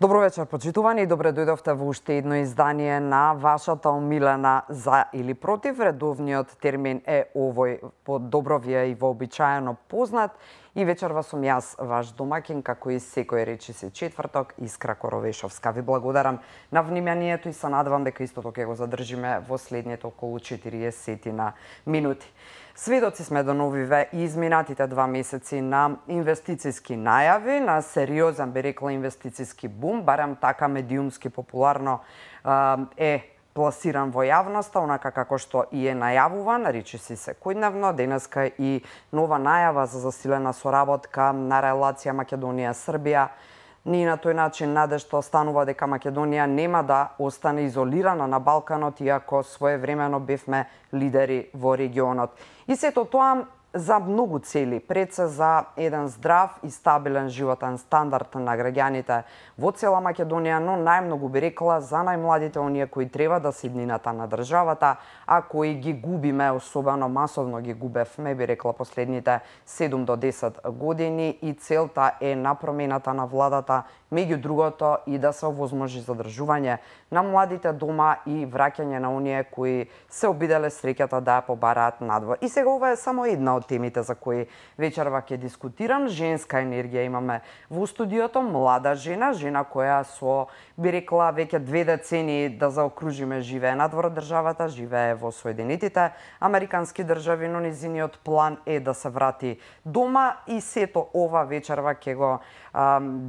Добро вечер, почитувани, и добре дојдовте во уште едно издание на вашата омилена за или против. Редовниот термин е овој, по добро ви е и вообичаено познат. И вечерва сум јас, ваш домакин, како и секој речиси четврток, Искра Коровешовска. Ви благодарам на вниманието и се надевам дека истото ќе го задржиме во следните околу 40 на минути. Сведоци сме до новиве и изминатите 2 месеци на инвестициски најави, на сериозен, би рекла, инвестициски бум, барем така медиумски популарно е пласиран во јавноста, онака како што и е најавуван, речиси секојдневно. Денеска и нова најава за засилена соработка на релација Македонија-Србија. Ни на тој начин надежда останува дека Македонија нема да остане изолирана на Балканот, иако своевремено бевме лидери во регионот. И сето тоа за многу цели, пред се за еден здрав и стабилен животен стандард на граѓаните во цела Македонија, но најмногу би рекла за најмладите, оние кои треба да се иднината на државата, а кои ги губиме, особено масовно ги губевме, би рекла, последните 7 до 10 години, и целта е на промената на владата, меѓу другото и да се овозможи задржување на младите дома и враќање на оние кои се обиделе среќата да ја побараат надвор. И сега ова е само една од темите за кои вечерва ќе дискутирам. Женска енергија имаме во студиото, млада жена која со, би рекла, веќе 2 децении да заокружиме живее надвор од државата, живее во Соединетите Американски држави, но низиниот план е да се врати дома, и сето ова вечерва ќе го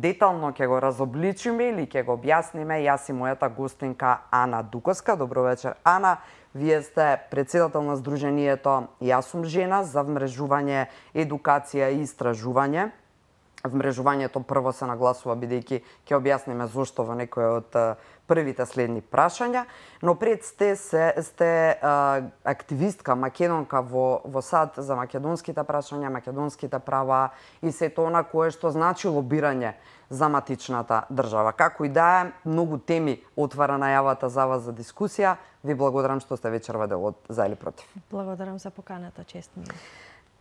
детално ќе го разобличиме или ќе го објасниме јас и мојата гостинка Ана Дуковска. Добро вечер, Ана. Вие сте председател на Сдруженијето Јас сум жена за вмрежување, едукација и истражување. Вмрежувањето прво се нагласува бидејќи ќе објасниме зошто во некој од првите следни прашања, но пред сте активистка, македонка во САД за македонските прашања, македонските права и сето она кое што значи лобирање за матичната држава. Како и да е, многу теми отвара најавата за вас за дискусија. Ви благодарам што сте вечерва дел од За или против. Благодарам за поканата, чест ми.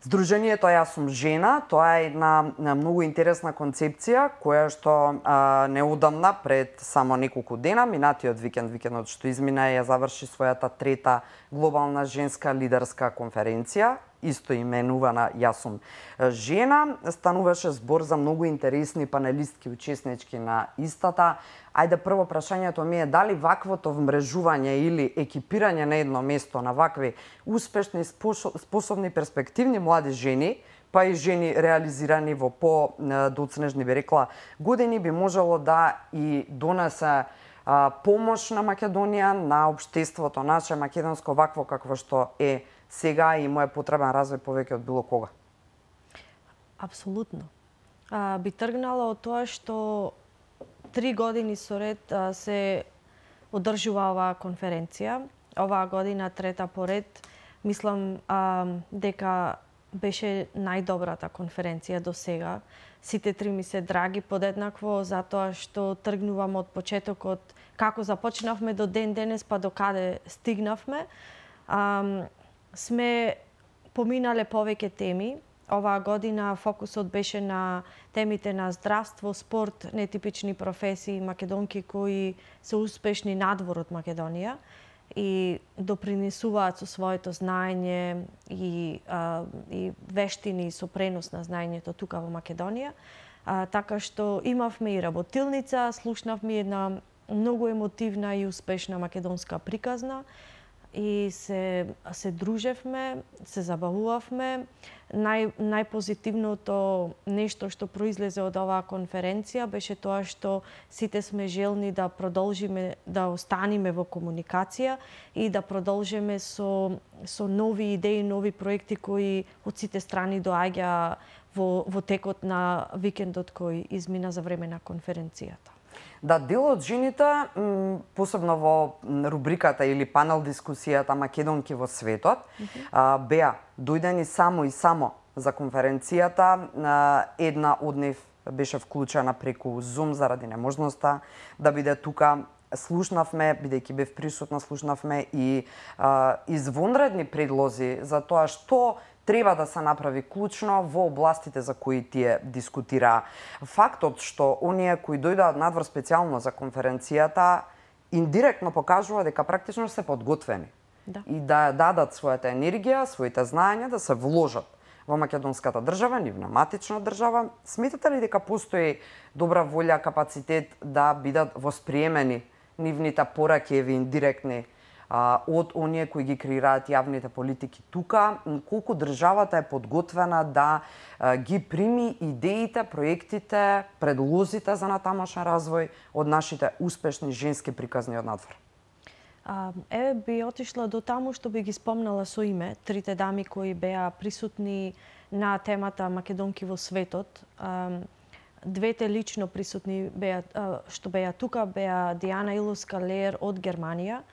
Сдруженијето Јас сум жена, тоа е една многу интересна концепција која што неодамна, пред само неколку дена, минатиот викендот што измина, ја заврши својата 3-та глобална женска лидерска конференција, исто именувана Јас сум жена. Стануваше збор за многу интересни панелистки учеснички на истата. Ајде, прво прашањето ми е дали ваквото вмрежување или екипирање на едно место на вакви успешни, способни, перспективни млади жени, па и жени реализирани во по-доцнежни, би рекла, години, би можело да и донесе помош на Македонија, на општеството наше македонско, вакво какво што е сега, и му е потребен развој повеќе од било кога. Апсолутно. Би тргнала од тоа што 3 години со ред се одржува оваа конференција. Оваа година 3-та поред. Мислам дека беше најдобрата конференција до сега. Сите 3 ми се драги подеднакво, затоа што тргнувам од почетокот, како започнавме до ден денес, па до каде стигнавме. Сме поминале повеќе теми. Оваа година фокусот беше на темите на здравство, спорт, нетипични професии, македонки кои се успешни надвор од Македонија и допринесуваат со своето знаење и вештини со пренос на знаењето тука во Македонија. Така што имавме и работилница, слушнавме една многу емотивна и успешна македонска приказна и се дружевме, се забавувавме. Најпозитивното нешто што произлезе од оваа конференција беше тоа што сите сме желни да продолжиме да останеме во комуникација и да продолжиме со нови идеи, нови проекти кои од сите страни доаѓа во текот на викендот кој измина за време на конференцијата. Да, дел од жените, посебно во рубриката или панел дискусијата Македонки во светот, беа дојдени само и само за конференцијата. Една од нив беше вклучена преку Zoom заради неможноста да биде тука. Слушнавме, бидејќи бев присутна, слушнавме и извонредни предлози за тоа што треба да се направи клучно во областите за кои тие дискутираа. Фактот што оние кои дојдоа надвор специјално за конференцијата индиректно покажува дека практично се подготвени и да дадат својата енергија, своите знаења, да се вложат во македонската држава, нивна матична држава. Сметате ли дека постои добра волја, капацитет да бидат восприемени нивните пораки индиректни од оние кои ги креираат јавните политики тука, колку државата е подготвена да ги прими идеите, проектите, предлозите за натамошен развој од нашите успешни женски приказни од надвор? Би отишла до таму што би ги спомнала со име трите дами кои беа присутни на темата Македонки во светот. Двете лично присутни што беа тука беа Диана Илоска-Леер од Германија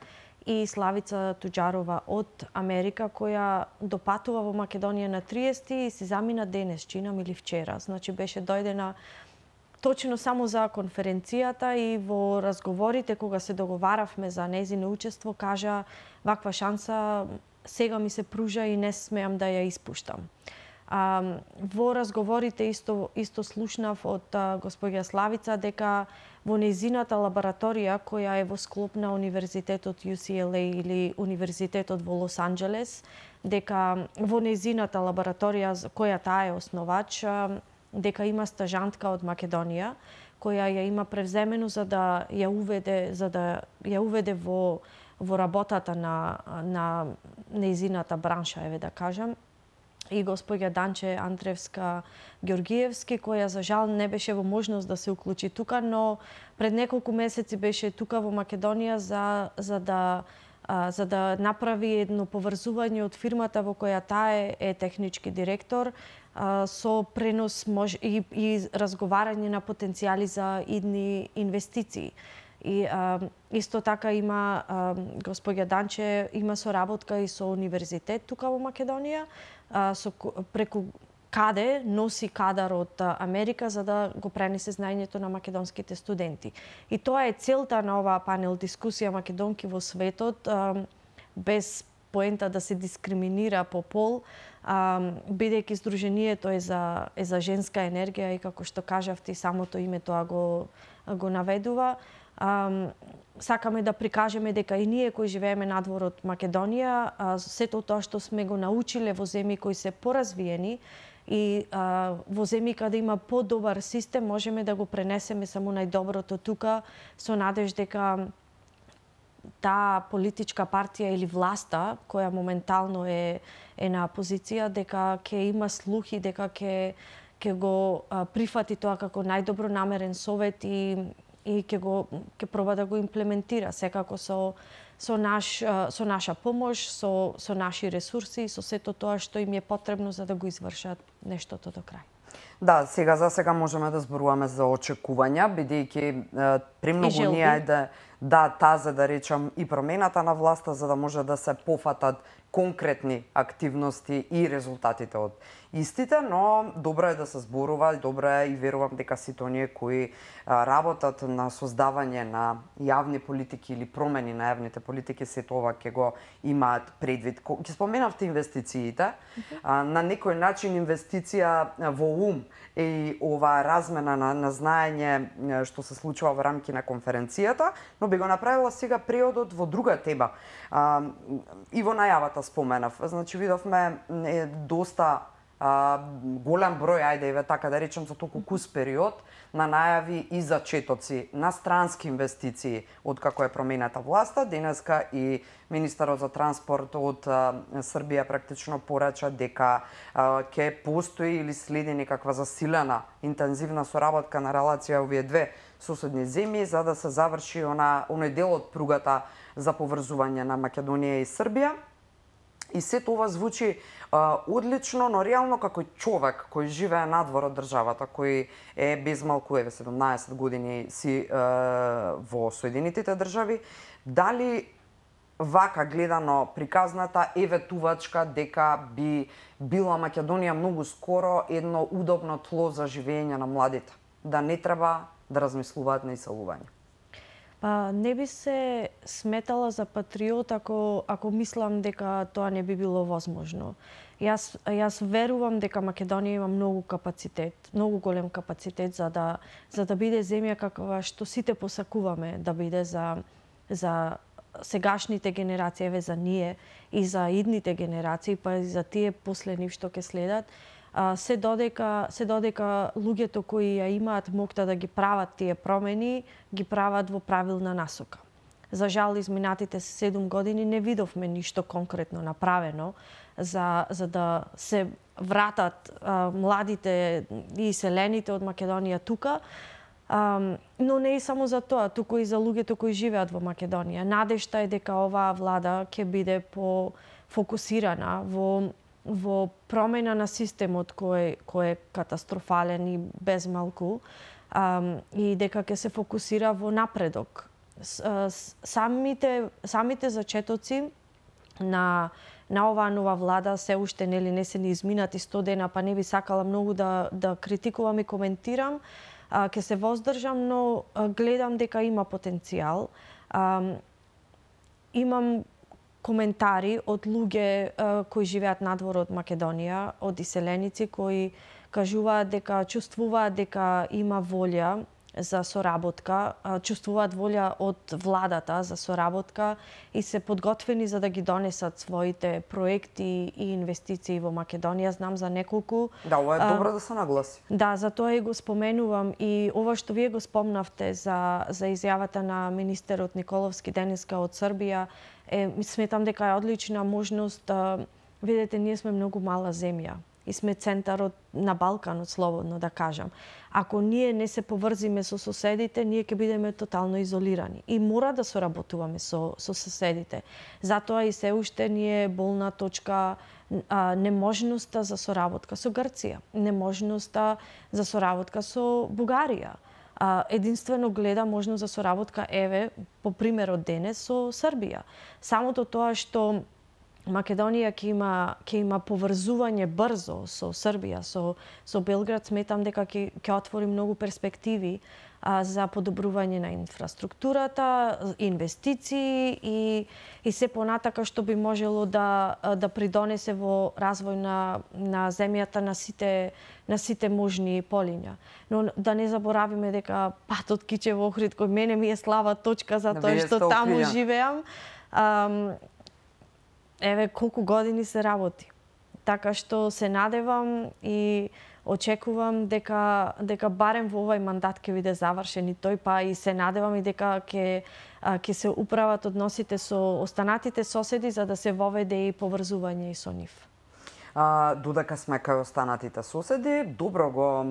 и Славица Туџарова од Америка, која допатува во Македонија на 30 и си замина денес, чинам или вчера. Значи беше дојдена точно само за конференцијата и во разговорите кога се договаравме за нејзино учество, кажа ваква шанса сега ми се пружа и не смеам да ја испуштам. Во разговорите исто слушнав од господја Славица дека во нејзината лабораторија која е во склоп на Универзитетот UCLA или Универзитетот во Лос Анџелес, дека во нејзината лабораторија која таа е основач, дека има стажантка од Македонија која ја има превземено за да ја уведе во работата на нејзината бранша, еве да кажам, и господја Данче Андревска Ѓоргиевски, која за жал не беше во можност да се уклучи тука, но пред неколку месеци беше тука во Македонија за да направи едно поврзување од фирмата во која таа е технички директор со пренос и разговарање на потенцијали за идни инвестиции. И исто така има господја Данче има соработка и со универзитет тука во Македонија, преку каде носи кадар од Америка за да го пренесе знаењето на македонските студенти. И тоа е целта на оваа панел дискусија Македонки во светот, без поента да се дискриминира по пол, бидејќи здруженијето е за женска енергија и како што кажавте, самото име тоа го наведува. Сакаме да прикажеме дека и ние кои живееме надвор од Македонија, сето тоа што сме го научиле во земји кои се поразвиени и во земји каде има подобар систем, можеме да го пренесеме само најдоброто тука, со надеж дека таа политичка партија или власта, која моментално е на позиција, дека ќе има слух и дека ќе го прифати тоа како најдобро намерен совет и ќе проба да го имплементира, секако со наша помош, со наши ресурси, со сето тоа што им е потребно за да го извршат нештото до крај. Да, за сега можеме да зборуваме за очекувања, бидејќи премногу ние е да речам и промената на власта за да може да се пофатат конкретни активности и резултатите од истите, но добро е да се зборува, добро е и верувам дека сите оние кои работат на создавање на јавни политики или промени на јавните политики, сето ова ќе го имаат предвид. Ќе споменавте инвестициите, на некој начин инвестиција во ум и ова размена на знаење што се случува во рамки на конференцијата, но би го направила сега преодот во друга тема. И во најавата споменав, значи видовме доста голем број, ајде така да речем, за толку кус период на најави и зачетоци на странски инвестиции од како е промената власта. Денеска и министерот за транспорт од Србија практично порача дека ќе постои или следи некаква засилена интензивна соработка на релација овие две соседни земји за да се заврши оној дел од пругата за поврзување на Македонија и Србија. И сето ова звучи одлично, но реално како човек кој живее надвор од државата, кој е без малку 17 години си во Соединетите држави, дали вака гледано приказната е ветувачка дека би била Македонија многу скоро едно удобно тло за живење на младите, да не треба да размислуваат на иселување? Па не би се сметала за патриот ако мислам дека тоа не би било возможно. Јас верувам дека Македонија има многу капацитет, многу голем капацитет за да биде земја каква што сите посакуваме да биде за сегашните генерации, еве за ние и за идните генерации, па и за тие после нив што ќе следат. Се додека луѓето кои ја имаат моќта да ги прават тие промени, ги прават во правилна насока. За жал, изминатите 7 години не видовме ништо конкретно направено за да се вратат младите и селените од Македонија тука, но не и само за тоа, туку и за луѓето кои живеат во Македонија. Надежта е дека оваа влада ќе биде фокусирана во промена на системот кој е катастрофален и безмалку, и дека ќе се фокусира во напредок. Самите зачетоци на оваа нова влада се уште не се ни изминати 100 дена, па не би сакала многу да критикувам и коментирам. Ќе се воздржам, но гледам дека има потенцијал. Имам коментари од луѓе кои живеат надвор од Македонија, од иселеници кои кажуваат дека чувствуваат дека има волја за соработка, чувствуваат волја од владата за соработка и се подготвени за да ги донесат своите проекти и инвестиции во Македонија. Знам за неколку. Да, ова е добро да се нагласи. Да, затоа и го споменувам, и ова што вие го спомнавте за изјавата на министерот Николовски денеска од Србија, сметам дека е одлична можност. Видете, ние сме многу мала земја и сме центарот на Балканот, слободно да кажам. Ако ние не се поврзиме со соседите, ние ќе бидеме тотално изолирани. И мора да соработуваме со соседите. Затоа и се уште ни е болна точка неможноста за соработка со Грција, неможноста за соработка со Бугарија. Единствено гледа можност за соработка, еве, по примерот денес, со Србија. Самото тоа што Македонија ќе има поврзување брзо со Србија, со Белград, сметам дека ќе отвори многу перспективи за подобрување на инфраструктурата, инвестиции и се понатака што би можело да придонесе во развој на земјата на сите можни полиња. Но да не заборавиме дека патот Кичево Охрид, кој мене ми е слаба точка за тоа што таму живеам, еве колку години се работи. Така што се надевам и очекувам дека барем во овај мандат ќе биде завршен и тој, па и се надевам и дека ќе се управат односите со останатите соседи за да се воведе и поврзување и со нив. Додека сме кај останатите соседи, добро го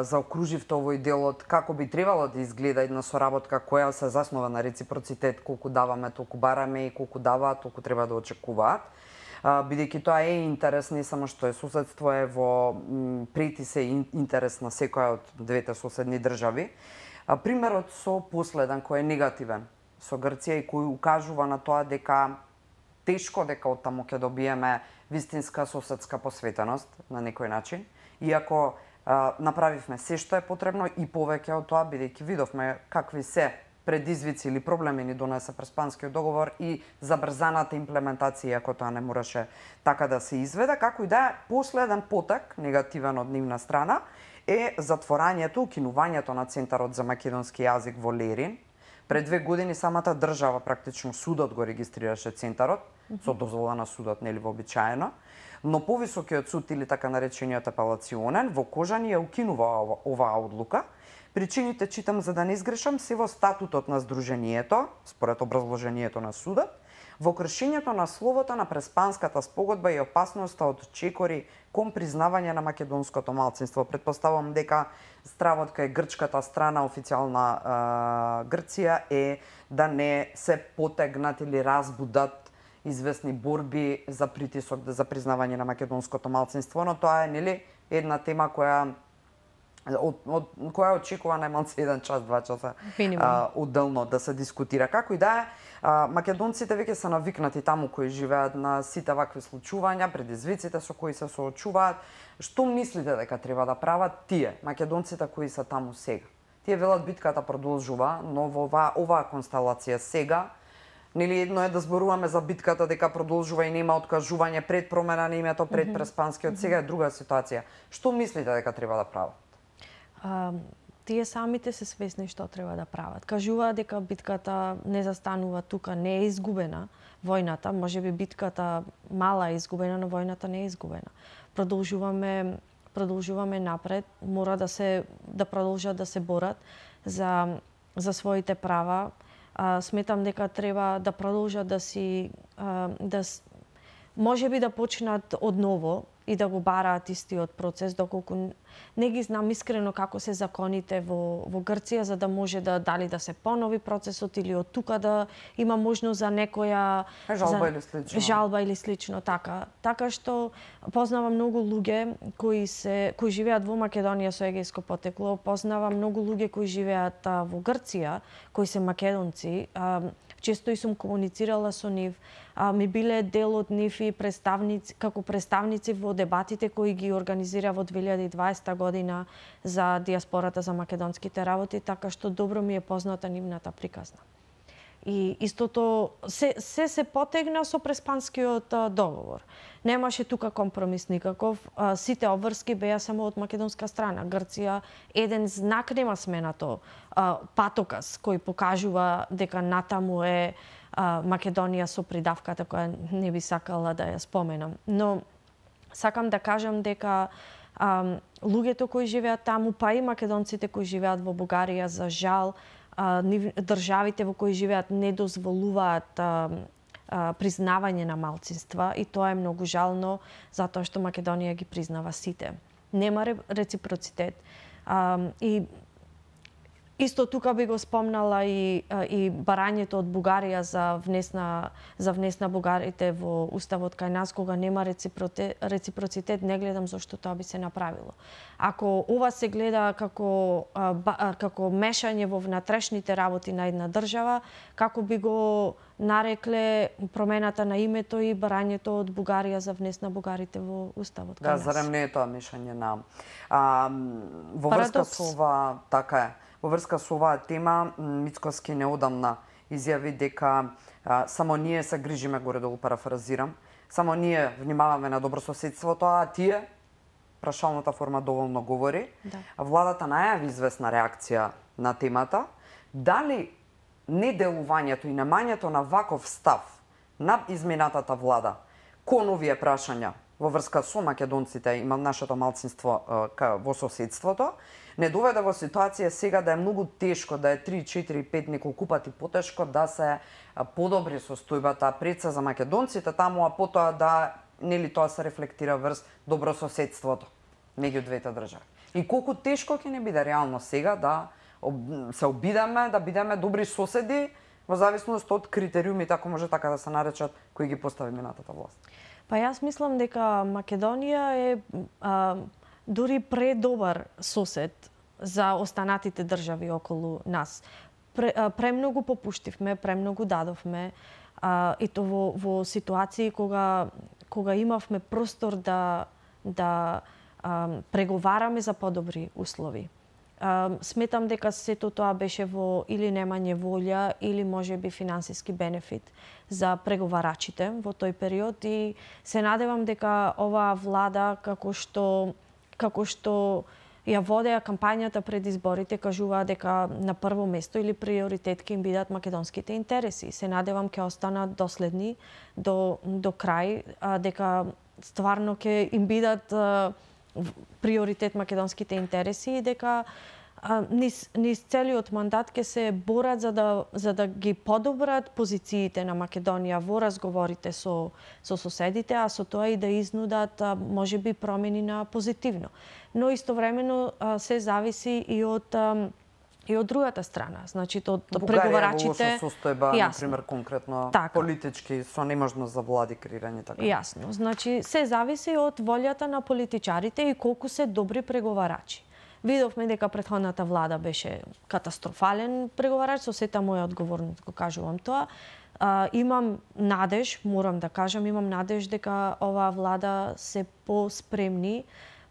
заокруживте овој делот како би требало да изгледа една соработка која се заснова на реципроцитет, колку даваме, толку бараме и колку даваат, толку треба да очекуваат. Бидејќи тоа е интерес, не само што е соседство, е во прети се интерес на секоја од двете соседни држави. Примерот со последен кој е негативен со Грција и кој укажува на тоа дека тешко дека од таму ќе добиеме вистинска соседска посветеност на некој начин, иако направивме се што е потребно и повеќе од тоа, бидејќи видовме какви се предизвици или проблеми ни донесе Преспанскиот договор и забрзаната имплементација, ако тоа не мораше така да се изведе. Како и да е, последен потек, негативен од нивна страна, е затворањето, укинувањето на Центарот за македонски јазик во Лерин. Пред 2 години самата држава, практично судот го регистрираше Центарот, со дозвола на судот, нели вообичаено, но повисокиот суд или така наречениот апелационен во Кожани ја укинува оваа одлука. Причините, читам за да не изгрешам, се во статутот на Сдруженијето, според образложението на судот, во кршењето на словото на Преспанската спогодба и опасноста од чекори кон признавање на македонското малцинство. Предпоставам дека стравот кај грчката страна, официјална Грција, е да не се потегнат или разбудат известни борби за притисок за признавање на македонското малцинство, но тоа е, нели, една тема која очекува најмалку 1 час, 2 часа одделно да се дискутира. Како и да е, македонците веќе се навикнати таму кои живеат на сите вакви случувања, предизвиците со кои се соочуваат. Што мислите дека треба да прават тие, македонците кои се таму сега? Тие велат битката продолжува, но во оваа констелација сега, нели едно е да зборуваме за битката дека продолжува и нема откажување пред промена на името, пред Преспанскиот, сега е друга ситуација. Што мислите дека треба да прават? Тие самите се свесни што треба да прават. Кажуваат дека битката не застанува тука, не е изгубена војната, можеби битката мала е изгубена, но војната не е изгубена. Продолжуваме напред, мора да продолжат да се борат за своите права. Сметам дека треба да продолжат можеби да почнат одново и да го бараат истиот процес, доколку не ги знам искрено како се законите во Грција, за да може дали да се понови процесот или од тука да има можност за некоја жалба или слично така. Така што познавам многу луѓе кои живеат во Македонија со егејско потекло, познавам многу луѓе кои живеат во Грција, кои се македонци. Често и сум комуницирала со нив, ми биле дел од нив и како представници во дебатите кои ги организира во 2020 година за диаспората за македонските работи, така што добро ми е позната нивната приказна. И истото се потегна со Преспанскиот договор. Немаше тука компромис никаков. Сите обврски беа само од македонска страна. Грција еден знак нема сменато, патоказ кој покажува дека натаму е Македонија со придавката која не би сакала да ја споменам. Но сакам да кажам дека луѓето кои живеат таму, па и македонците кои живеат во Бугарија, за жал, државите во кои живеат не дозволуваат признавање на малцинства и тоа е многу жално затоа што Македонија ги признава сите. Нема реципроцитет. И исто тука би го спомнала и барањето од Бугарија за внес на бугарите во уставот кај нас, кога нема реципроцитет, не гледам зошто тоа би се направило. Ако ова се гледа како мешање во внатрешните работи на една држава, како би го нарекле промената на името и барањето од Бугарија за внес на бугарите во уставот кај нас? Да, зарем не е тоа мешање на во врска со ова, така е. Во врска со оваа тема, Мицкоски неодамна изјави дека само ние се грижиме, горе-долу парафразирам, само ние внимаваме на добрососедството, а тие, прашалната форма доволно говори. Да. Владата најави известна реакција на темата. Дали неделувањето и немањето на ваков став на изминатата влада кон овие прашања во врска со македонците и нашето малцинство во соседството, не доведе во ситуација сега да е многу тешко, да е 3, 4, 5, неколку пати потешко да се подобри состојбата пред се за македонците таму, а потоа да нели тоа се рефлектира врз добрососедството меѓу двете држави. И колку тешко ќе не биде реално сега да се обидеме да бидеме добри соседи во зависност од критериумите, ако може така да се наречат, кои ги постави минатата власт. Па јас мислам дека Македонија е дури предобар сосед за останатите држави околу нас. Премногу попуштивме, премногу дадовме, и то во ситуации кога имавме простор да преговараме за подобри услови. Сметам дека сето тоа беше во или немање волја или можеби финансиски бенефит за преговарачите во тој период и се надевам дека оваа влада како што ја водеа кампањата пред изборите, кажуваа дека на прво место или приоритет ќе им бидат македонските интереси. Се надевам ќе останат доследни до крај, дека стварно ќе им бидат приоритет македонските интереси и дека низ целиот мандат ќе се борат за да ги подобрат позициите на Македонија во разговорите со соседите, а со тоа и да изнудат можеби промени на позитивно. Но истовремено се зависи и од другата страна, значи од преговарачите. Бугарија во лоша состојба, например, конкретно така, политички, со неможност за влади креирање така. Јасно, значи се зависи од волјата на политичарите и колку се добри преговарачи. Видовме дека претходната влада беше катастрофален преговарач, со сета моја одговорност го кажувам тоа. Имам надеж, морам да кажам, имам надеж дека оваа влада се по-спремни,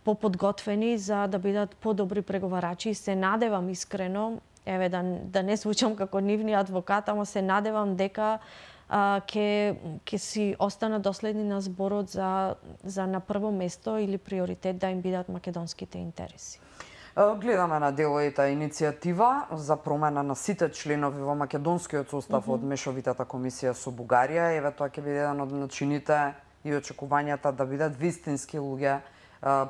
поподготвени за да бидат подобри преговарачи. Се надевам искрено, еве да не звучам како нивни адвокат, ама се надевам дека ќе си останат доследни на зборот за на прво место или приоритет да им бидат македонските интереси. Гледаме на делојата иницијатива за промена на сите членови во македонскиот состав од Мешовитата комисија со Бугарија. Еве тоа ќе биде еден од начините и очекувањата да бидат вистински луѓе,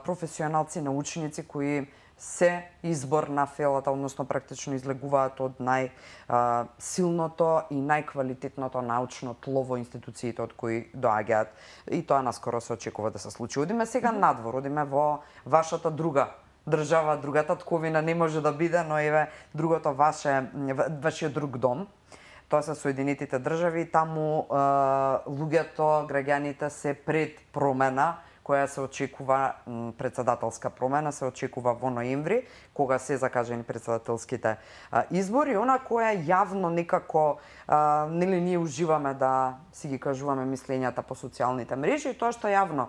професионалци, научници кои се избор на фелата, односно практично излегуваат од најсилното и најквалитетното научно тло во институциите од кои доаѓаат. И тоа наскоро се очекува да се случи. Одиме сега надвор, одиме во вашата друга држава, другата татковина не може да биде, но еве другото вашиот друг дом. Тоа се Соединетите држави, таму луѓето, граѓаните се пред промена која се очекува, председателска промена се очекува во ноември, кога се закажани председателските избори, она која јавно некако нели ние уживаме да си ги кажуваме мислењата по социјалните мрежи, и тоа што јавно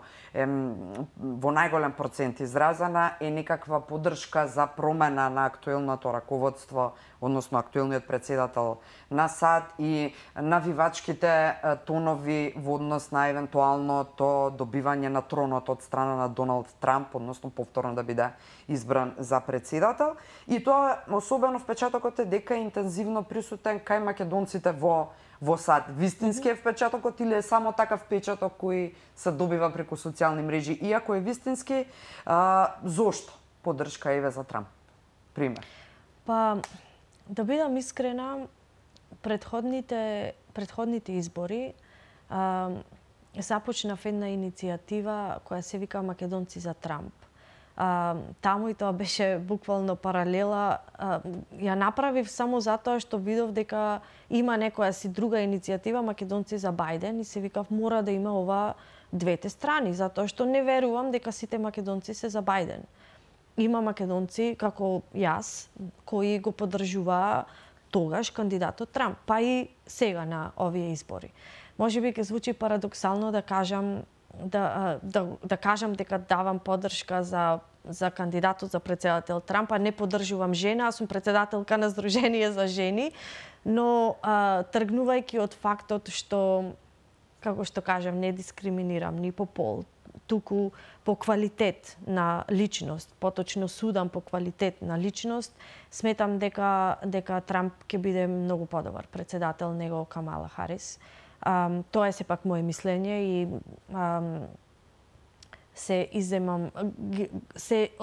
во најголем процент изразена е некаква поддршка за промена на актуелното раководство, односно актуелниот председател на САД, и навивачките тонови во однос на евентуалното добивање на тронот од страна на Доналд Трамп, односно повторно да биде избран за председател. И тоа особено впечатокот е дека е интензивно присутен кај македонците во САД. Вистински е впечатокот или е само такав впечаток кој се добива преку социјални мрежи? Иако е вистински, зошто поддршка еве за Трамп? Пример. Па, да бидам искрена, предходните избори започнав една иницијатива која се вика Македонци за Трамп. Таму и тоа беше буквално паралела. Ја направив само затоа што видов дека има некоја си друга иницијатива Македонци за Бајден и се викав мора да има ова двете страни, затоа што не верувам дека сите македонци се за Бајден. Има македонци како јас кои го поддржуваа тогаш кандидатот Трамп, па и сега на овие избори. Можеби ќе звучи парадоксално да кажам дека давам поддршка за кандидатот за председател Трамп, а не поддржувам жена, аз сум председателка на Сдружение за жени, но тргнувајќи од фактот што, како што кажам, не дискриминирам ни по пол, туку по квалитет на личност, поточно судам по квалитет на личност, сметам дека Трамп ќе биде многу подобар председател него Камала Харис. Тоа е сепак моje мислење и се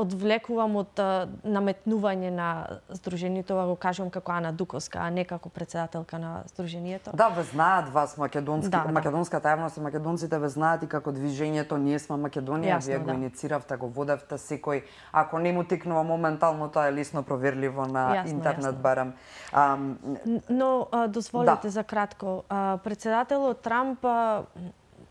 одвлекувам од наметнување на Сдруженијето, го кажувам како Ана Дуковска, а не како председателка на Сдруженијето. Да, ве знаат вас македонската јавност и македонците ве знаат и како движењето Ние сме Македонија, вие го иницииравте, го водевте, секој ако не му текнува моментално, тоа е лесно проверливо на интернет барем. Но дозволете за кратко, председателот Трамп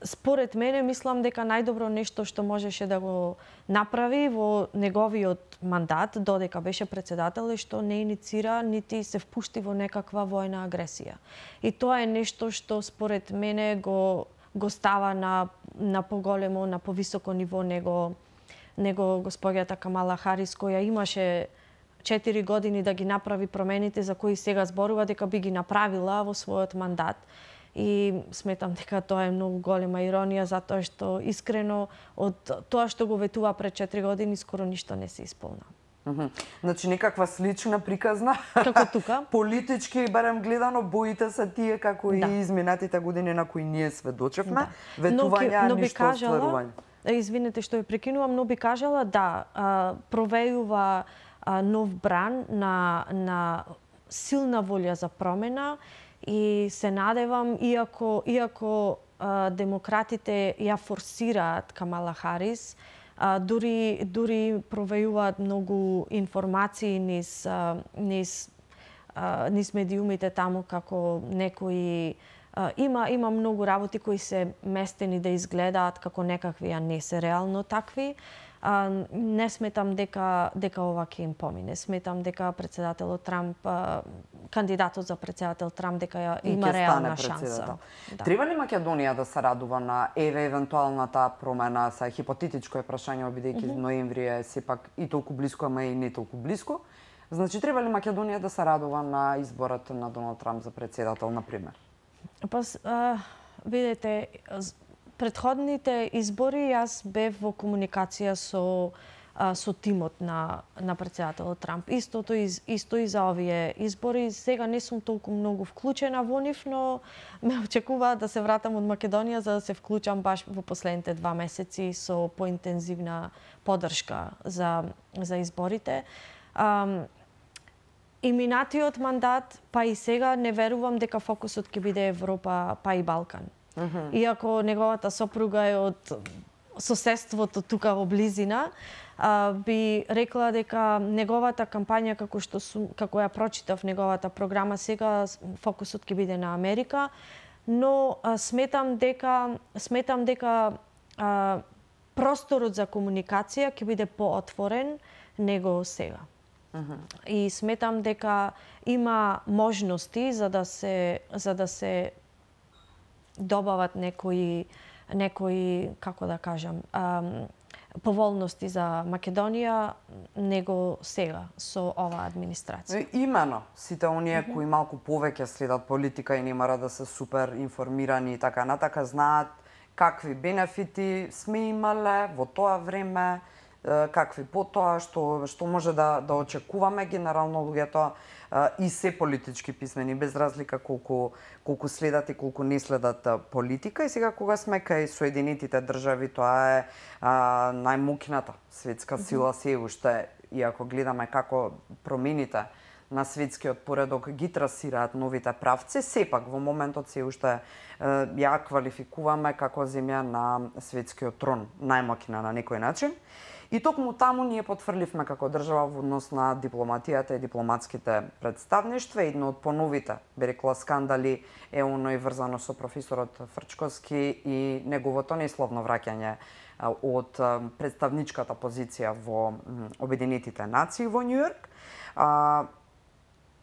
според мене, мислам дека најдобро нешто што можеше да го направи во неговиот мандат, додека беше председател, е што не иницира нити се впушти во некаква војна агресија. И тоа е нешто што според мене го става на поголемо, на повисоко ниво него господјата Камала Харис, која имаше 4 години да ги направи промените за кои сега зборува дека би ги направила во својот мандат. И сметам дека тоа е многу голема иронија, затоа што искрено од тоа што го ветува пред 4 години скоро ништо не се исполна. Значи некаква слична приказна. Како тука? Политички барем гледано боите се тие како и изминатите години на кои ние сведочевме. Ветувања, ништо остварување. Извинете што ја прекинувам, но би кажала провејува нов бран на силна волја за промена. И се надевам, иако демократите ја форсираат Камала Харис, дури провејуваат многу информации низ медиумите таму, како некои има многу работи кои се местени да изгледаат како некакви, а не се реално такви. Не сметам дека ова ќе им помине. Сметам дека председателот Трамп, кандидатот за председател Трамп, дека има реална шанса. Да. Треба ли Македонија да се радува на евентуалната промена, са хипотетичко е прашање, бидејќи ноември е сепак и толку блиско, ама и не толку блиско. Значи, треба ли Македонија да се радува на изборот на Доналд Трамп за председател, например? Видете, предходните избори јас бев во комуникација со тимот на председателот Трамп. Исто и за овие избори. Сега не сум толку многу вклучена во нив, но ме очекува да се вратам од Македонија за да се вклучам баш во последните 2 месеци со поинтензивна поддршка за изборите. И минатиот мандат, па и сега не верувам дека фокусот ќе биде Европа, па и Балкан. Иако неговата сопруга е од соседството тука во близина, би рекла дека неговата кампања, како ја прочитав неговата програма, сега фокусот ќе биде на Америка, но сметам дека просторот за комуникација ќе биде поотворен него сега. И сметам дека има можности за да се добават некои како да кажам, поволности за Македонија него сега со оваа администрација. Имено, сите оние кои малку повеќе следат политика и не мора да се супер информирани и така натака, знаат какви бенефити сме имале во тоа време, какви потоа, што може да очекуваме. Генерално луѓето и се политички писмени, без разлика колку следат и колку не следат политика. И сега кога сме кај Соединетите држави, тоа е најмокната светска сила се уште, и ако гледаме како промените на светскиот поредок ги трасираат новите правци, сепак во моментот се уште ја квалификуваме како земја на светскиот трон, најмокина на некој начин. И токму таму ние потврдивме како држава во однос на дипломатијата и дипломатските представништва. Едно од поновите, би рекла, скандали е оно и врзано со професорот Фрчковски и неговото несловно враќање од представничката позиција во Обединетите нации во Њујорк.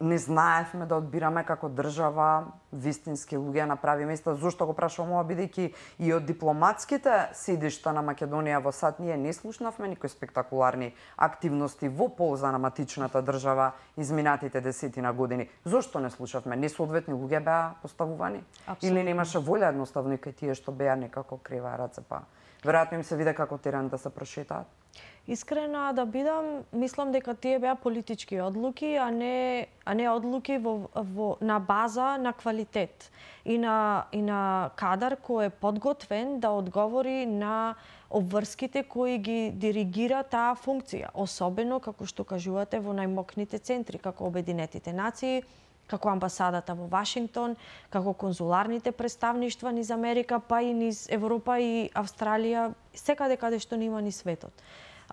Не знаевме да одбираме како држава вистински луѓе на прави места. Зошто го прашувам ова, бидејќи и од дипломатските седишта на Македонија во САД ние не слушнавме никои спектакуларни активности во полза на матичната држава изминатите 10 години. Зошто не слушавме? Несоодветни луѓе беа поставувани? Или немаше волја едноставно и кај тие што беа некако крива раце, па веројатно им се виде како терен да се прошетаат? Искрена да бидам, мислам дека тие беа политички одлуки, а не одлуки на база на квалитет и на кадар кој е подготвен да одговори на обврските кои ги диригира таа функција, особено како што кажувате во најмокните центри како Обединетите нации, како амбасадата во Вашингтон, како конзуларните представништва низ Америка, па и низ Европа и Австралија, секаде каде што нема ни светот.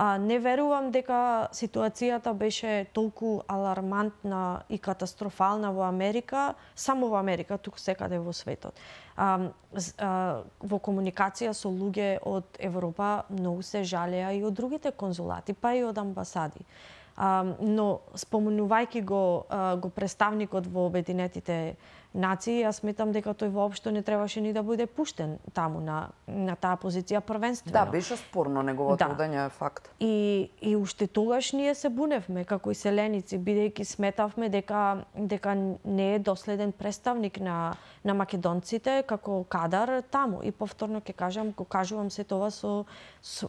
Не верувам дека ситуацијата беше толку алармантна и катастрофална во Америка, само во Америка, туку секаде во светот. Во комуникација со луѓе од Европа многу се жалеа и од другите конзулати, па и од амбасади. Но спомнувајќи го представникот во Обединетите нации, јас сметам дека тој воопшто не требаше ни да биде пуштен таму на таа позиција првенствено. Да, беше спорно неговото одење, факт. И уште тогаш ние се буневме како иселеници, бидејќи сметавме дека не е доследен представник на македонците како кадар таму. И повторно ќе кажам, го кажувам се тоа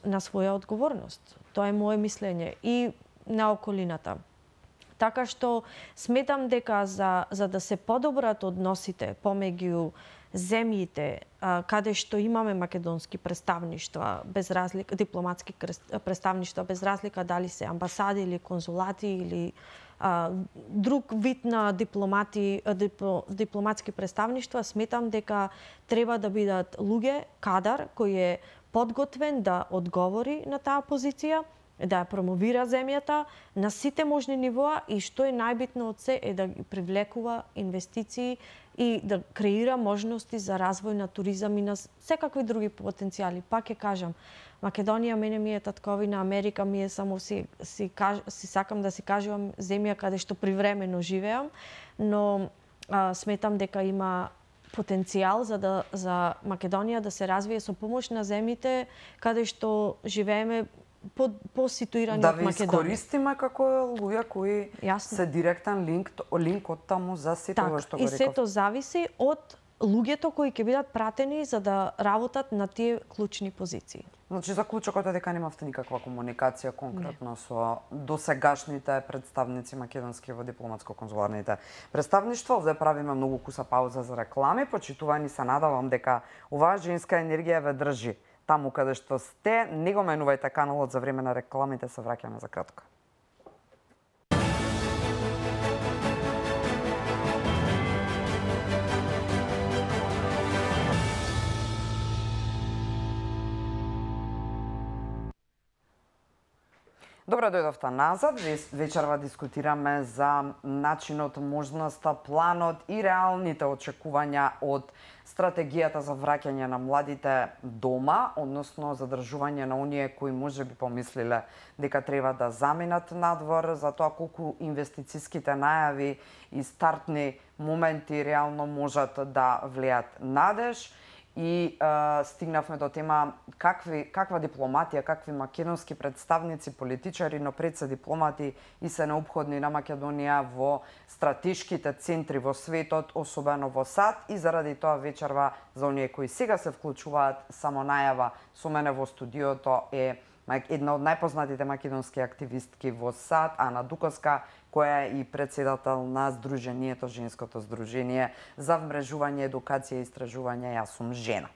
на своја одговорност. Тоа е мое мислење и на околината. Така што сметам дека за да се подобрат односите помеѓу земјите каде што имаме македонски представништва, без разлика дипломатски представништва, без разлика дали се амбасади или конзулати или друг вид на дипломатски представништва, сметам дека треба да бидат луѓе, кадар кој е подготвен да одговори на таа позиција, да ја промовира земјата на сите можни нивоа и што е најбитно од се е да ги привлекува инвестиции и да креира можности за развој на туризам и на секакви други потенцијали. Пак ќе кажам, Македонија мене ми е татковина, Америка ми е само си сакам да си кажувам земја каде што привремено живеам, но сметам дека има потенцијал за Македонија да се развие со помош на земјите каде што живееме по ситуирани од Македонија. Да ви искористиме како луѓе кои се директен линк од таму за сето ова што го реков. И сето зависи од луѓето кои ќе бидат пратени за да работат на тие клучни позиции. Значи, заклучокот е дека немавте никаква комуникација конкретно со досегашните представници македонски во дипломатско-конзуларните представништва. Овде правиме многу куса пауза за реклами. Почитувани, се надавам дека оваа женска енергија ве држи таму каде што сте. Не го менувајте каналот за време на рекламите, се враќаме за кратко. Добро дојдовте назад. Вечерва дискутираме за начинот, можноста, планот и реалните очекувања од стратегијата за враќање на младите дома, односно задржување на оние кои можеби помислиле дека треба да заминат надвор, за тоа колку инвестициските најави и стартни моменти реално можат да влијат надеж. И стигнавме до тема каква дипломатија, какви македонски представници, политичари, но пред се дипломати и се неопходни на Македонија во стратешките центри во светот, особено во САД, и заради тоа вечерва за оние кои сега се вклучуваат, само најава со мене во студиото е една од најпознатите македонски активистки во САД, Ана Дуковска, која е и председател на Сдруженијето, Женското здружение за вмрежување, едукација и истражување Јас сум жена.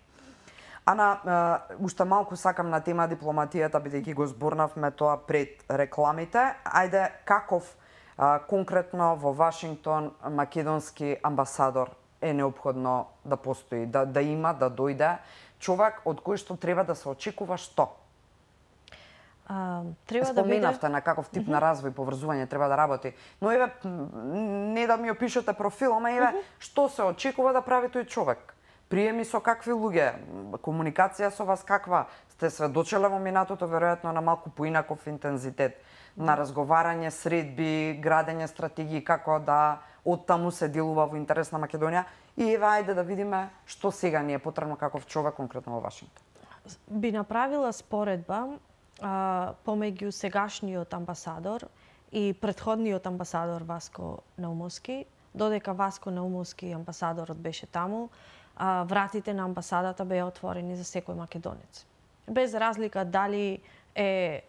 Ана, уште малку сакам на тема дипломатијата, бидејќи го зборнавме тоа пред рекламите. Ајде, каков конкретно во Вашингтон македонски амбасадор е неопходно да постои, да има, да дојде човек од кој што треба да се очекува што? Споменавте на каков тип на развој, поврзување треба да работи. Но еве, не да ми опишете профил, ама еве, што се очекува да прави тој човек? Приеми со какви луѓе? Комуникација со вас каква? Сте сведочеле во минатото, веројатно на малку поинаков интензитет на разговарање, средби, градење стратегии, како да оттаму се делува во интерес на Македонија. И еве, ајде да видиме што сега ни е потребно каков човек конкретно во Вашингтон. Би направила споредба помеѓу сегашниот амбасадор и претходниот амбасадор Васко Наумовски. Додека Васко Наумовски амбасадорот беше таму, вратите на амбасадата беа отворени за секој македонец. Без разлика дали е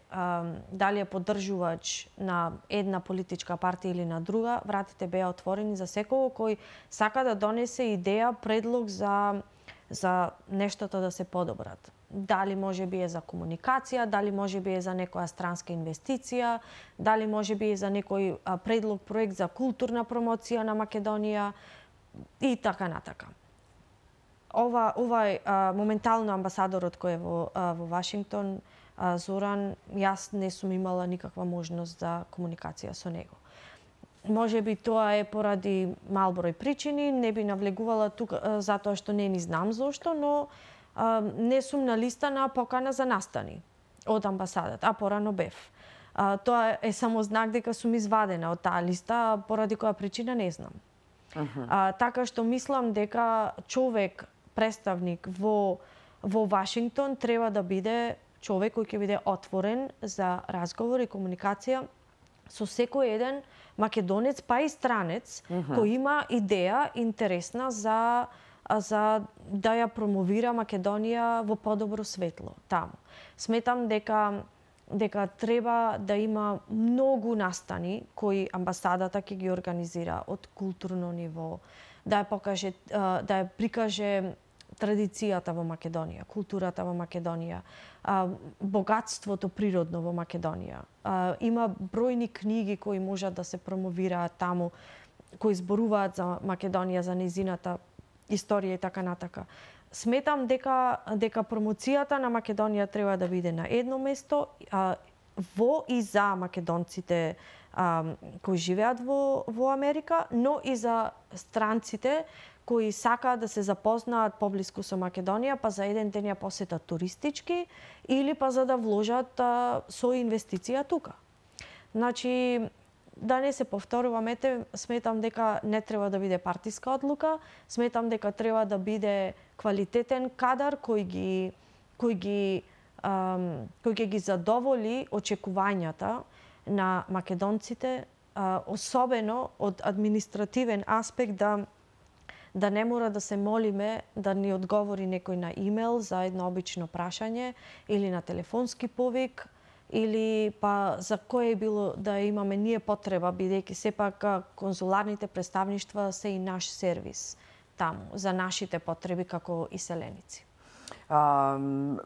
поддржувач на една политичка партија или на друга, вратите беа отворени за секој кој сака да донесе идеја, предлог за нештото да се подобрат. Дали може би е за комуникација, дали може би е за некоја странска инвестиција, дали може би е за некој предлог, проект за културна промоција на Македонија и така натака. Овај моментално амбасадорот кој е во Вашингтон, Зоран, јас не сум имала никаква можност за комуникација со него. Може би тоа е поради мал број причини, не би навлегувала тука затоа што не ни знам зошто, но не сум на листа на покана за настани од амбасадата, а порано бев. Тоа е само знак дека сум извадена од таа листа, поради која причина не знам. Така што мислам дека човек, представник во Вашингтон треба да биде човек кој ќе биде отворен за разговор и комуникација со секој еден македонец, па и странец, кој има идеја интересна за да ја промовира Македонија во подобро светло таму. Сметам дека треба да има многу настани кои амбасадата ќе ги организира од културно ниво, да ја прикаже традицијата во Македонија, културата во Македонија, богатството природно во Македонија. Има бројни книги кои можат да се промовираат таму, кои зборуваат за Македонија, за нејзината историја и така натака. Сметам дека промоцијата на Македонија треба да биде на едно место во и за македонците кои живеат во Америка, но и за странците кои сакаат да се запознаат поблиску со Македонија, па за еден ден ја посетат туристички или па за да вложат со инвестиција тука. Значи, да не се повторуваме, сметам дека не треба да биде партиска одлука, сметам дека треба да биде квалитетен кадар кој ќе ги задоволи очекувањата на македонците, особено од административен аспект, да не мора да се молиме да ни одговори некој на имейл за едно обично прашање или на телефонски повик, или па за кое било да имаме ние потреба, бидејќи сепак конзуларните представништва се и наш сервис таму, за нашите потреби како иселеници.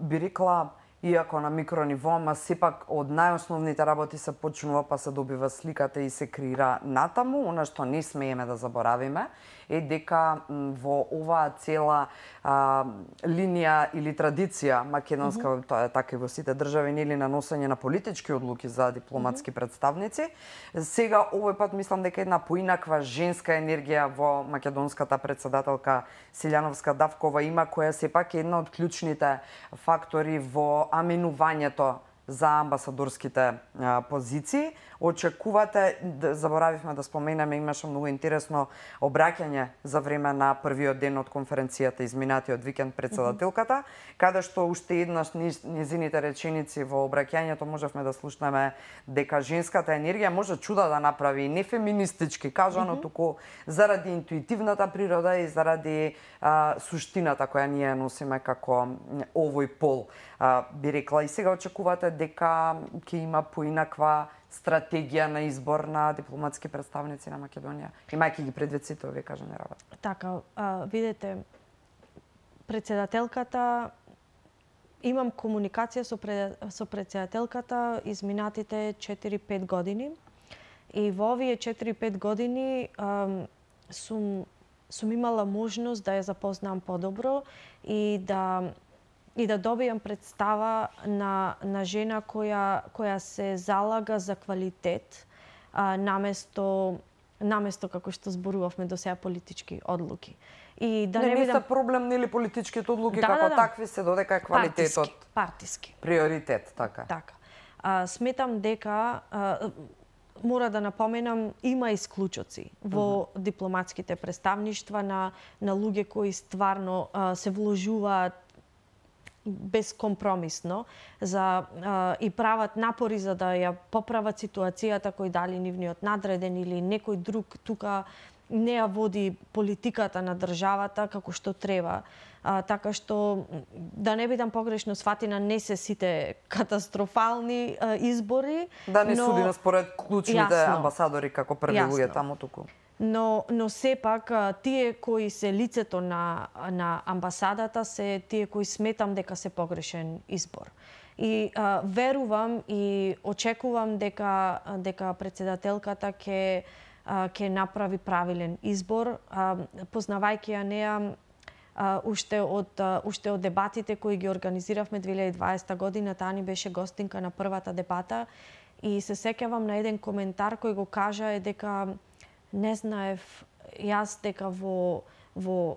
Би рекла, иако на микрониво, ама сепак од најосновните работи се почнува, па се добива сликата и се креира натаму. Она што не смееме да заборавиме е дека во оваа цела линија или традиција македонска, тоа е така и во сите држави, нели, на носење на политички одлуки за дипломатски представници. Сега овој пат мислам дека една поинаква женска енергија во македонската председателка Силјановска Давкова има, која сепак е една од клучните фактори во аминувањето за амбасадорските позиции. Очекувате, заборавивме да споменеме, имаше многу интересно обраќање за време на првиот ден од конференцијата изминатиот викенд председателката, каде што уште еднаш незините реченици во обраќањето можевме да слушнеме дека женската енергија може чуда да направи, не феминистички кажано, туку заради интуитивната природа и заради суштината која ние носиме како овој пол. Би рекла, и сега очекувате дека ќе има поинаква стратегија на избор на дипломатски представници на Македонија, имајќи ги предвид сите овие кажани работи. Така, видете, председателката, имам комуникација со председателката изминатите 4-5 години и во овие 4-5 години сум имала можност да ја запознам подобро и да добијам представа на жена која се залага за квалитет наместо како што зборувавме до сега политички одлуки. И да не се проблем нели политичките одлуки како такви се додека е квалитетот партиски приоритет, така. Така. Сметам дека мора да напоменам, има исклучоци во дипломатските представништва на луѓе кои стварно се вложуваат безкомпромисно и прават напори за да ја поправат ситуацијата кој дали нивниот надреден или некој друг тука не ја води политиката на државата како што треба. Така што, да не бидам погрешно сфатина, не се сите катастрофални избори. Да не судиме според клучните амбасадори како први луѓе таму туку. Но сепак тие кои се лицето на амбасадата се тие кои сметам дека се погрешен избор. И верувам и очекувам дека председателката ќе направи правилен избор, познавајќи ја неа уште од дебатите кои ги организиравме 2020 година, таа ни беше гостинка на првата дебата и се сеќавам на еден коментар кој го кажа дека не знаев јас дека во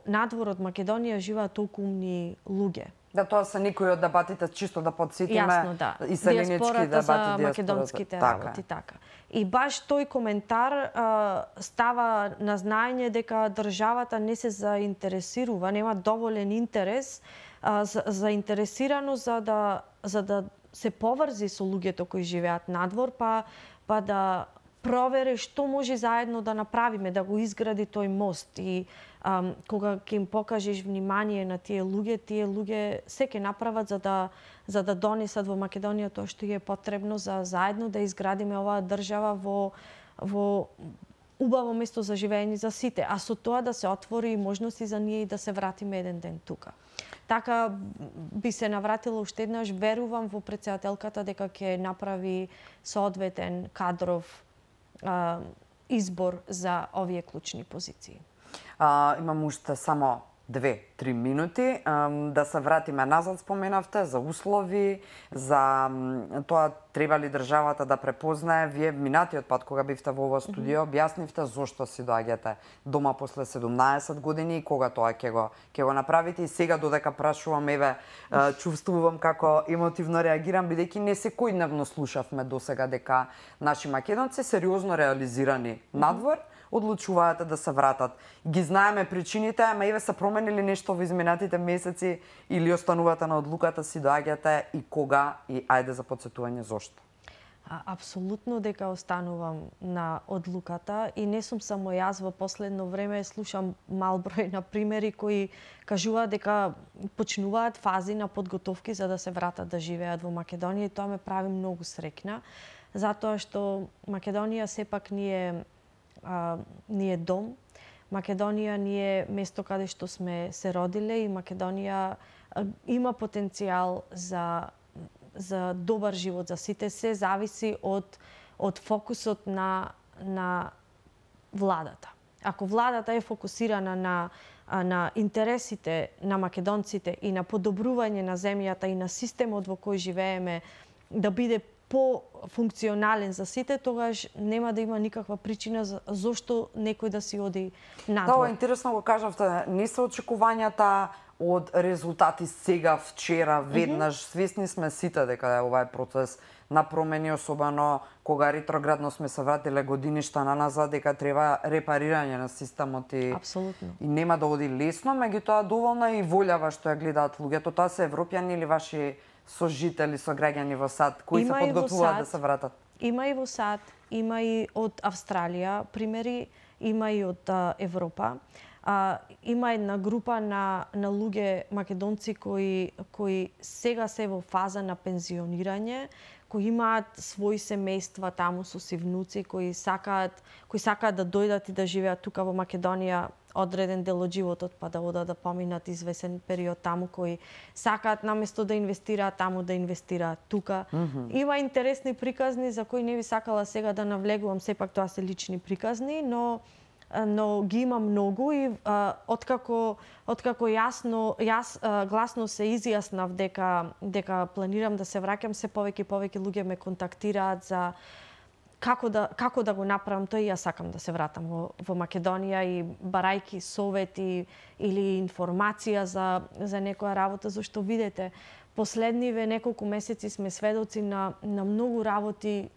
надвор од Македонија живеат толку умни луѓе. Да, тоа се некои од дебатите, чисто да подсетиме. Јасно, да. Иселенички дебати, за македонските работи, така. И баш тој коментар става на знаење дека државата не се заинтересирува, нема доволен интерес, заинтересирано за да се поврзи со луѓето кои живеат надвор, па да провере што може заедно да направиме, да го изгради тој мост. И кога ќе им покажеш внимание на тие луѓе се ќе направат за да донесат во Македонија тоа што е потребно за заедно да изградиме оваа држава во убаво место за живење за сите, а со тоа да се отвори можности за ние и да се вратиме еден ден тука. Така би се навратила уште еднаш, верувам во председателката дека ќе направи соодветен кадров избор за овие клучни позиции. Имам уште само 2-3 минути, да се вратиме назад, споменавте, за услови, за тоа треба ли државата да препознае. Вие минатиот пат, кога бивте во ова студио, објаснивте зошто си доаѓате дома после 17 години и кога тоа ќе го направите. И сега додека прашувам, еве, чувствувам како емотивно реагирам, бидејќи не секојдневно слушавме досега дека наши македонци сериозно реализирани надвор одлучуваат да се вратат. Ги знаеме причините, ама еве се променили нешто во изминатите месеци или останувате на одлуката си доаѓате и кога и ајде за потсетување зошто? Апсолутно дека останувам на одлуката и не сум само јас. Во последно време слушам мал број на примери кои кажуваат дека почнуваат фази на подготовки за да се вратат да живеат во Македонија и тоа ме прави многу среќна, затоа што Македонија сепак ни е дом. Македонија ни е место каде што сме се родиле и Македонија има потенцијал за добар живот за сите. Се зависи од фокусот на владата. Ако владата е фокусирана на интересите на македонците и на подобрување на земјата и на системот во кој живееме да биде по-функционален за сите, тогаш нема да има никаква причина зошто некој да си оди надвор. Да, интересно го кажавте, не се очекувањата од резултати сега, вчера, веднаш. Свесни сме сите дека ова е процес на промени, особено кога ретроградно сме се вратиле годиништа наназад, дека треба репарирање на системот и нема да оди лесно, меѓутоа доволна и волјава што ја гледаат луѓето. Тоа се европјани или ваши сожители, сограѓани во САД, кои се подготвуваат да се вратат? Има и во САД, има и од Австралија примери, има и од Европа. Има една група на луѓе македонци кои сега се во фаза на пензионирање, кои имаат своји семејства таму со си внуци, кои сакаат да дојдат и да живеат тука во Македонија одреден дел од животот, па да одат да поминат извесен период таму, кои сакаат наместо да инвестираат таму, да инвестираат тука. Има интересни приказни за кои не би сакала сега да навлегувам, сепак тоа се лични приказни, но ги има многу и откако јас гласно се изјаснав дека планирам да се враќам, се повеќе и повеќе луѓе ме контактираат за како да го направам тоа и јас сакам да се вратам во Македонија и барајки совети или информација за некоја работа, зашто видете, последниве неколку месеци сме сведоци на многу работи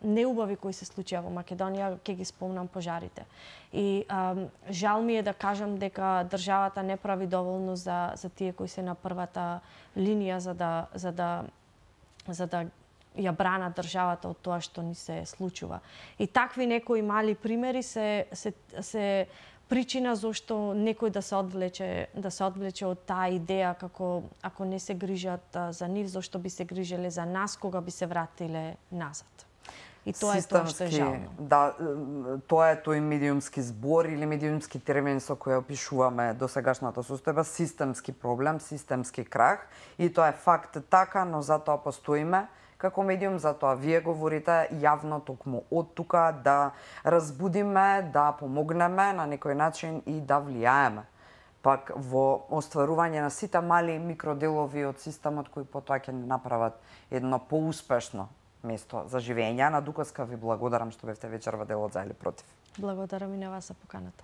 неубави кои се случија во Македонија, ќе ги спомнам пожарите. И жал ми е да кажам дека државата не прави доволно за тие кои се на првата линија за да ја бранат државата од тоа што ни се случува. И такви некои мали примери се причина зошто некој да се одвлече од таа идеја како ако не се грижат за нив, зошто би се грижеле за нас кога би се вратиле назад. И тоа е тоа што е жално. Да, тоа е тој медиумски збор или медиумски термин со кој опишуваме досегашната состојба, системски проблем, системски крах. И тоа е факт така, но затоа постоиме како медиум, затоа вие говорите јавно токму од тука да разбудиме, да помогнеме на некој начин и да влијаеме пак во остварување на сите мали микроделови од системот кои потоа ќе не направат едно поуспешно место за живење. Ана Дукаска, ви благодарам што бевте вечерва дел од За или против. Благодарам и на вас за поканата.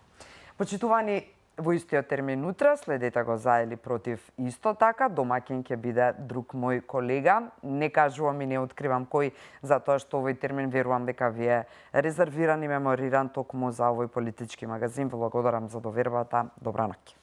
Почитувани, во истиот термин утре следете го За или против исто така. Домаќин ќе биде друг мој колега. Не кажувам и не откривам кој, затоа што овој термин верувам дека ви е резервиран и мемориран токму за овој политички магазин. Благодарам за довербата. Добра ноќ.